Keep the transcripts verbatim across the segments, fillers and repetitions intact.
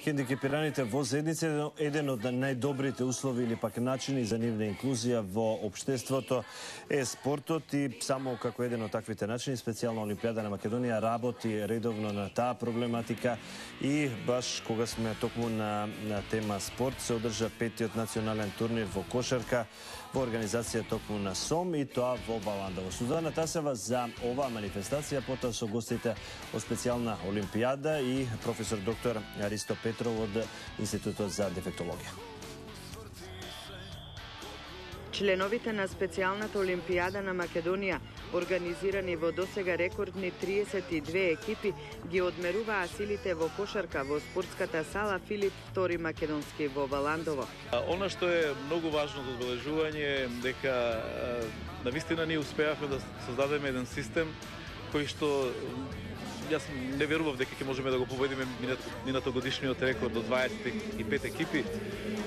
Хендикепираните во заедница е еден од најдобрите услови или пак начини за нивна инклузија во општеството е спортот и само како еден од таквите начини специјална Олимпијада на Македонија работи редовно на таа проблематика и баш кога сме токму на, на тема спорт се одржа петиот национален турнир во кошарка во организација токму на СОМ и тоа во Баландово. Сузана Тасева за оваа манифестација, потоа со гостите од специјална Олимпијада и професор доктор Ристо Петров од Институтот за дефектологија. Членовите на специјалната Олимпијада на Македонија, организирани во досега рекордни триесет и две екипи, ги одмеруваа силите во кошарка во спортската сала Филип втори Македонски во Баландово. Она што е многу важно за одбележување е дека навистина ние успеавме да создадеме еден систем кој што јас не верував дека ќе можеме да го победиме минато годишниот рекорд од дваесет и пет екипи.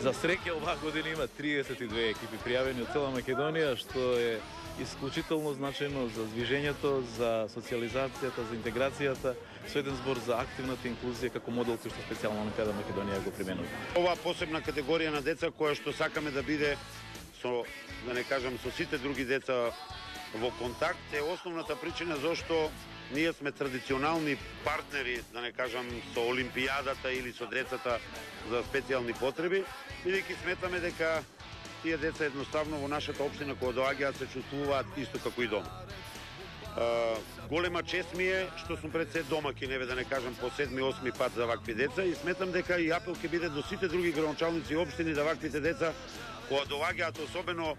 За среќа оваа година има триесет и две екипи пријавени од цела Македонија, што е исклучително значајно за движењето, за социјализацијата, за интеграцијата, со еден збор за активната инклузија како модел кој што специјална Олимпијада Македонија го применува. Оваа посебна категорија на деца која што сакаме да биде со, да не кажам, со сите други деца во контакт е основната причина зашто ние сме традиционални партнери, да не кажам, со Олимпијадата или со децата за специјални потреби, бидејќи сметаме дека тие деца едноставно во нашата општина кога доаѓаат се чувствуваат исто како и дома. Uh, голема чест ми е што сум пред се домаки, неве да не кажам по седми осми пат за вакви деца и сметам дека и апел ќе биде до сите други градоначалници и општини да ваквите деца кога доаѓаат особено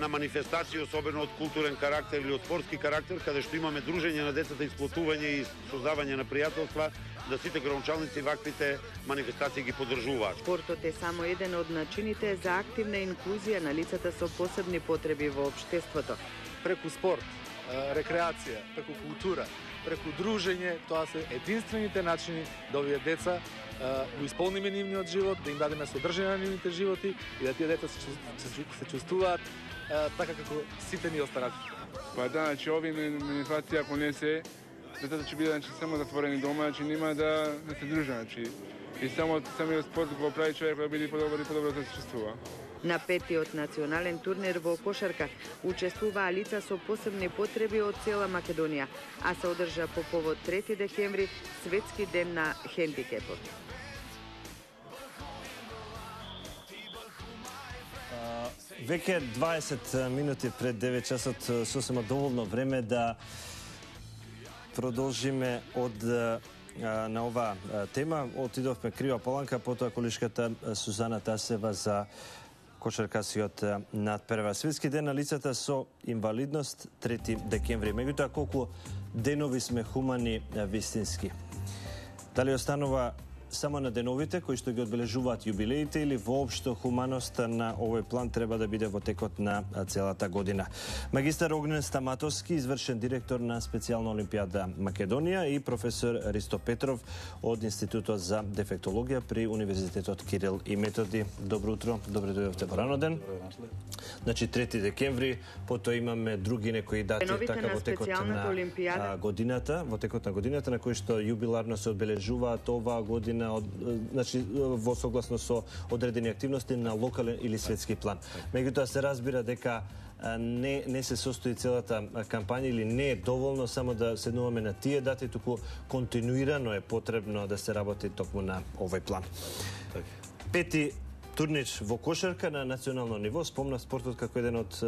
на манифестации, особено од културен карактер или од спортски карактер, каде што имаме дружење на децата, исплатување и создавање на пријателства, да сите градоначалници ваквите манифестации ги поддржуваат. Спортот е само еден од начините за активна инклузија на лицата со посебни потреби во општеството. Преку спорт, рекреација, преку култура, преку дружење, тоа се единствените начини да овие деца го исполниме нивниот живот, да им дадеме содржина на нивните животи и да тие деца се, се, се чувствуваат така како сите ни останати. Па да, значи овие манифестации ако не се, децата ќе бидат значи само затворени дома, значи нема да да се дружат, значи и само самиот спорт го прави човек да биде подобро и подобро да се чувствува. На петиот национален турнир во кошарка учествуваа лица со посебни потреби од цела Македонија, а се одржа по повод трети декември, Светски ден на хендикепот. Веќе дваесет минути пред девет часот, сосема доволно време да продолжиме од на оваа тема. Отидовме крива поланка, потоа колишката Сузана Тасева за кошаркасиот надпревар. Светски ден на лицата со инвалидност, трети декември. Меѓутоа, колку денови сме хумани вистински? Дали останува само на деновите кои што ги одбележуваат јубилеите или воопшто хуманоста на овој план треба да биде во текот на целата година? Магистар Огнен Стаматовски, извршен директор на специјална Олимпијада Македонија и професор Ристо Петров од Институтот за дефектологија при Универзитетот Кирил и Методи. Добро утро, добре дојдовте во рано ден. Значи трети декември, потоа имаме други некои дати така во текот на Олимпијада. годината, во текот на годината на кои што јубиларно се одбележуваат оваа година од, значи во согласно со одредени активности на локален или светски план. Меѓутоа се разбира дека не не се состои целата кампања или не е доволно само да седнуваме на тие дати, туку континуирано е потребно да се работи токму на овој план. Пети турнир во кошарка на национално ниво, спомна спортот како еден од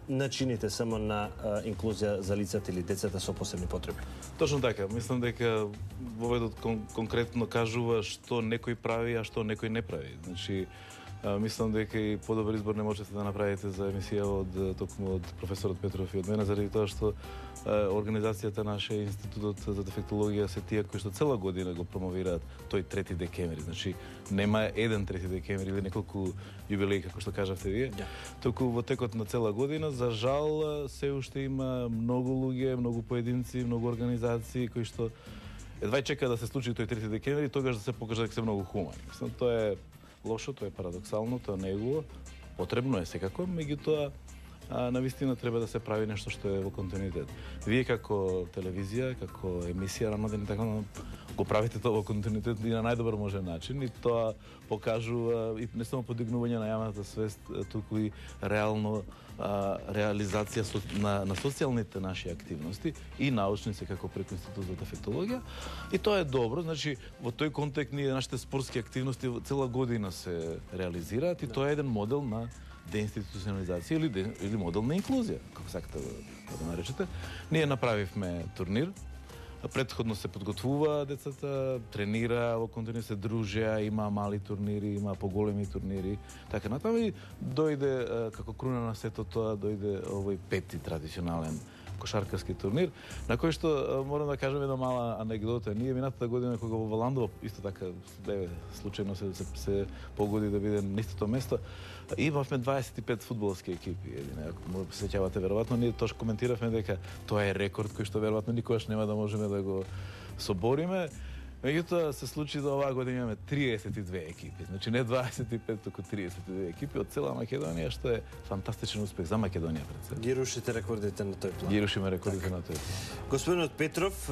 начините само на инклузија за лицата или децата со посебни потреби. Точно така. Мислам дека воведот кон, конкретно кажува што некој прави, а што некој не прави. Значи, мислам дека и подобар избор не можете да направите за емисија од токму од професорот Петров и од мене, заради тоа што организацијата наша Институтот за дефектологија се тие кои што цела година го промовираат тој трети декември. Значи нема еден трети декември или неколку јубилеи како што кажавте вие. Yeah. Току во текот на цела година, за жал, се уште има многу луѓе, многу поединци, многу организации кои што едва чека да се случи тој трети декември, тогаш да се покаже дека се многу хумани. Мислам, тоа е лошо, тоа е парадоксално, тоа не е убаво. Потребно е секако, меѓутоа а, навистина треба да се прави нешто што е во континуитет. Вие како телевизија, како емисија Рамаден и така го правите тоа во континуитет и на најдобар можен начин, и тоа покажува и не само подигнување на јавната свест, туку и реално а, реализација со, на, на социјалните наши активности и научници како преку Институт за дефектологија. И тоа е добро, значи во тој контекст ние нашите спортски активности цела година се реализираат и тоа е еден модел на деинституционализација или, де, или модел на инклузија, како сакате да го наречете. Ние направивме турнир, претходно се подготвува децата, тренира, во континуитет се дружеа, има мали турнири, има поголеми турнири, така натаму и дојде како круна на сето тоа, дојде овој пети традиционален кошаркарски турнир, на кој што морам да кажам една мала анегдота. Ние минатата година кога во Валандово исто така бе случајно се, се, се погоди да биде на истото место, имавме дваесет и пет фудбалски екипи. Едине, ако му се сеќавате веројатно, ние тош коментиравме дека тоа е рекорд кој што веројатно никогаш нема да можеме да го собориме. Меѓутоа се случи да оваа година имаме триесет и две екипи. Значи не дваесет и пет, туку триесет и две екипи од цела Македонија, што е фантастичен успех за Македонија пред себе. Ги рушите рекордите на тој план. Ги рушиме рекордите на тој план. Господинот Петров,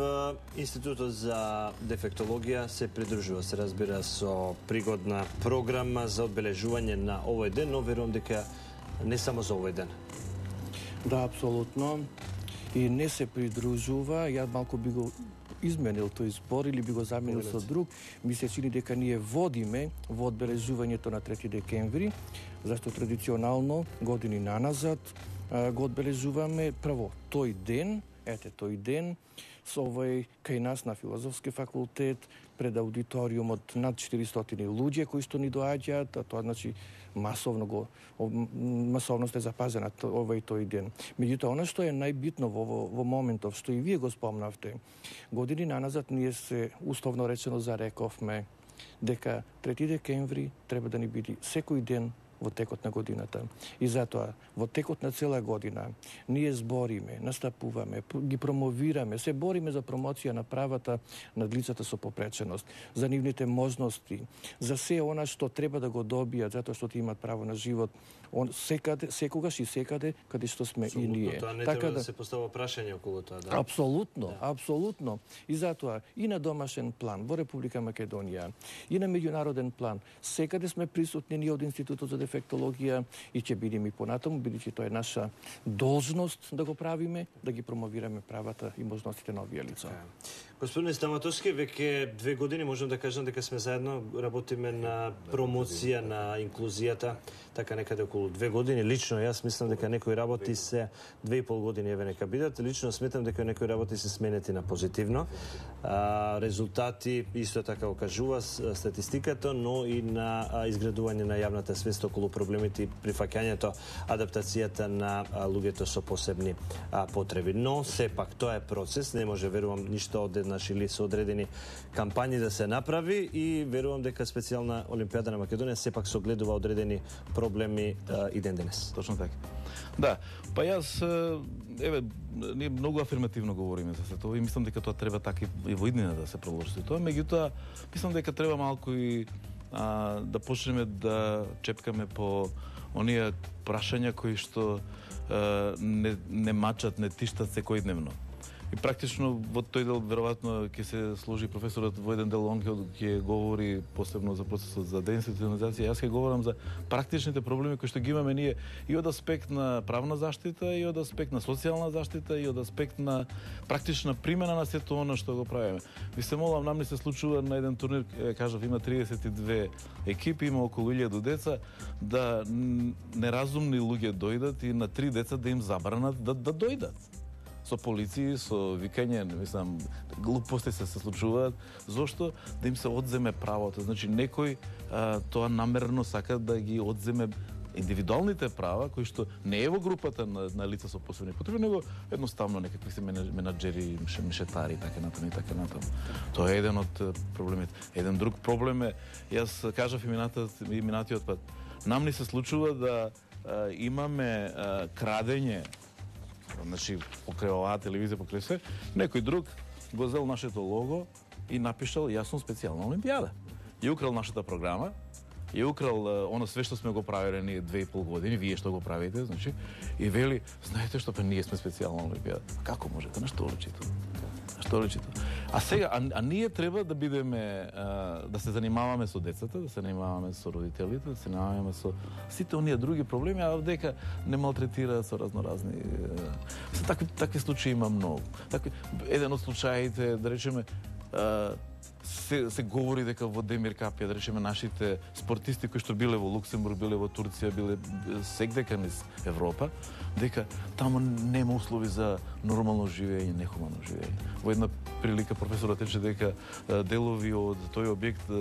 Институтот за дефектологија се придружува, се разбира, со пригодна програма за одбележување на овој ден, но верувам дека не само за овој ден. Да, апсолутно. И не се придружува, ја малку би го изменил тој збор или би го заменил со друг. Ми се чини дека ние водиме во одбележувањето на трети декември, зашто традиционално години наназад го одбележуваме прво тој ден, ете тој ден, со овој кај нас на Филозофски факултет, пред аудиториумот над четиристотини луѓе кои што ни доаѓаат, а тоа значи масовно го масовност е запазена овој тој ден. Меѓутоа, она што е најбитно во, во, во моментов, што и вие го спомнавте, години наназад ние се условно речено зарековме дека трети декември треба да ни биде секој ден во текот на годината. И затоа, во текот на цела година, ние збориме, настапуваме, ги промовираме, се бориме за промоција на правата на лицата со попреченост, за нивните можности, за се она што треба да го добијат, затоа што ти имат право на живот, он секаде, секогаш и секаде каде што сме и ние. Тоа не така треба да, да се постава прашање околу тоа, да. Апсолутно, да. апсолутно. И затоа и на домашен план во Република Македонија, и на меѓународен план, секаде сме присутни ние од Институтот за дефектологија и ќе бидеме и понатаму, бидејќи тоа е наша должност да го правиме, да ги промовираме правата и можностите на овие лица. Господин Стаматовски, веќе две години можам да кажам дека сме заедно, работиме на промоција на инклузијата, така некаде околу две години. Лично јас мислам дека некои работи се две и пол години еве нека бидат. Лично сметам дека некои работи се сменети на позитивно. А, резултати исто така окажува статистиката, но и на а, изградување на јавната свест околу проблемите и прифаќањето, адаптацијата на а, луѓето со посебни а, потреби. Но сепак тоа е процес, не може верувам ништо одеднаш или со одредени кампањи да се направи и верувам дека специјална Олимпијада на Македонија сепак согледува одредени проблеми а, и ден денес. Точно така. Да, па јас еве ние многу афирмативно говориме за тоа и мислам дека тоа треба така и во иднина да се продолжи тоа, меѓутоа мислам дека треба малку и а, да почнеме да чепкаме по оние прашања кои што а, не, не мачат, не тиштат секојдневно. И практично во тој дел веројатно ќе се сложи професорот во еден дел, он ќе говори посебно за процесот за деинституционализација. Јас ќе говорам за практичните проблеми кои што ги имаме ние и од аспект на правна заштита, и од аспект на социјална заштита, и од аспект на практична примена на сето она што го правиме. Ви се молам, нам не се случува на еден турнир, кажав, има триесет и две екипи, има околу илјаду деца, да неразумни луѓе дојдат и на три деца да им забранат да, да дојдат. Со полиции, со викање, мислам, глупости се се случуваат, зошто да им се одземе правото. Значи, некој а, тоа намерно сака да ги одземе индивидуалните права, кои што не е во групата на, на лица со посебни потреби, него едноставно некакви се менаџери, мешетари, така натаму и така натаму. Тоа е еден од проблемите. Еден друг проблем е, јас кажав и минатиот пат, нам ни се случува да а, имаме а, крадење, значи покрај оваа телевизија, покрај се, некој друг го зел нашето лого и напишал јасно специјална Олимпијада. И украл нашата програма, и украл оно све што сме го правеле ние две и пол години, вие што го правите, значи, и вели, знаете што, па ние сме специјална Олимпијада. Како можете? На што личи тоа? На што личи тоа? А сега, а, а ние треба да бидеме, а, да се занимаваме со децата, да се занимаваме со родителите, да се занимаваме со сите оние други проблеми, а дека не малтретира со разноразни... Се такви, такви случаи има многу. Такви, еден од случаите, да речеме, а, се, се говори дека во Демир Капија, да речеме, нашите спортисти кои што биле во Луксембург, биле во Турција, биле секдека низ Европа, дека таму нема услови за нормално живење, нехумано живење. Во една прилика професорот рече дека делови од тој објект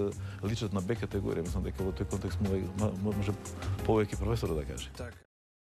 личат на Б категорија. Мислам дека во тој контекст може повеќе професорот да каже.